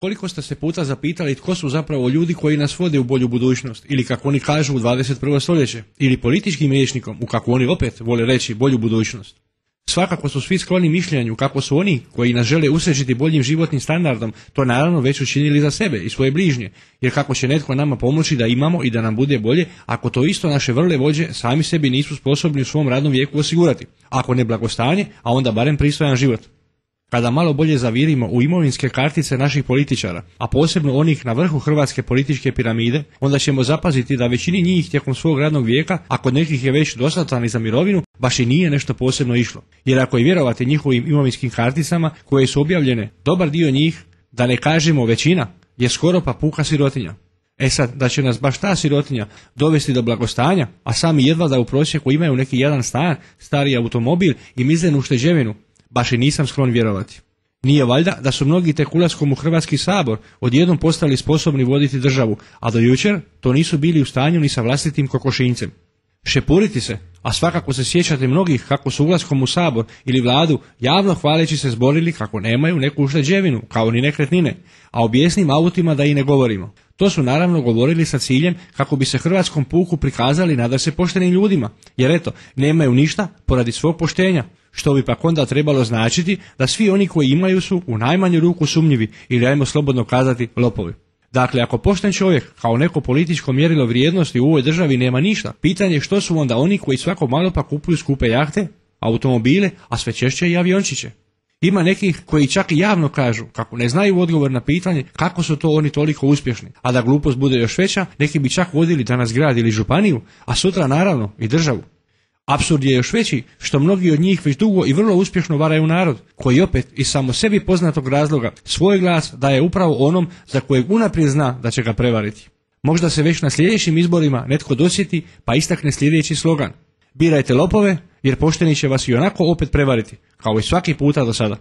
Koliko ste se puta zapitali tko su zapravo ljudi koji nas vode u bolju budućnost, ili kako oni kažu u 21. stoljeće, ili političkim rječnikom, u kako oni opet vole reći bolju budućnost. Svakako su svi skloni mišljenju kako su oni koji nas žele usrećiti boljim životnim standardom to naravno već učinili za sebe i svoje bližnje, jer kako će netko nama pomoći da imamo i da nam bude bolje ako to isto naše vrle vođe sami sebi nisu sposobni u svom radnom vijeku osigurati, ako ne blagostanje, a onda barem pristojan život. Kada malo bolje zavirimo u imovinske kartice naših političara, a posebno onih na vrhu hrvatske političke piramide, onda ćemo zapaziti da većini njih tijekom svog radnog vijeka, a kod nekih je već dostatan i za mirovinu, baš i nije nešto posebno išlo. Jer ako je vjerovati njihovim imovinskim karticama koje su objavljene, dobar dio njih, da ne kažemo većina, je skoro pa puka sirotinja. E sad, da će nas baš ta sirotinja dovesti do blagostanja, a sami jedva da u prosjeku imaju neki jedan stan, stari automobil i mizernu ušteđevinu, baš i nisam sklon vjerovati. Nije valjda da su mnogi tek ulaskom u Hrvatski sabor odjednom postali sposobni voditi državu, a do jučer to nisu bili u stanju ni sa vlastitim kokošinjcem. Šepuriti se, a svakako se sjećate mnogih kako su ulaskom u sabor ili vladu javno hvaleći se zborili kako nemaju neku ušteđevinu, kao ni nekretnine, a o bijesnim autima da i ne govorimo. To su naravno govorili sa ciljem kako bi se hrvatskom puku prikazali nadasve poštenim ljudima, jer eto, nemaju ništa poradi svog poštenja, što bi pak onda trebalo značiti da svi oni koji imaju su u najmanju ruku sumnjivi ili ajmo slobodno kazati lopovi. Dakle, ako pošten čovjek kao neko političko mjerilo vrijednosti u ovoj državi nema ništa, pitanje je što su onda oni koji svako malo pa kupuju skupe jahte, automobile, a sve češće i aviončiće. Ima nekih koji čak i javno kažu kako ne znaju odgovor na pitanje kako su to oni toliko uspješni, a da glupost bude još veća, neki bi čak vodili danas grad ili županiju, a sutra naravno i državu. Apsurd je još veći što mnogi od njih već dugo i vrlo uspješno varaju narod, koji opet iz samo sebi poznatog razloga svoj glas daje upravo onom za kojeg unaprijed zna da će ga prevariti. Možda se već na sljedećim izborima netko dosjeti pa istakne sljedeći slogan: birajte lopove jer pošteni će vas i onako opet prevariti, kao i svaki puta do sada.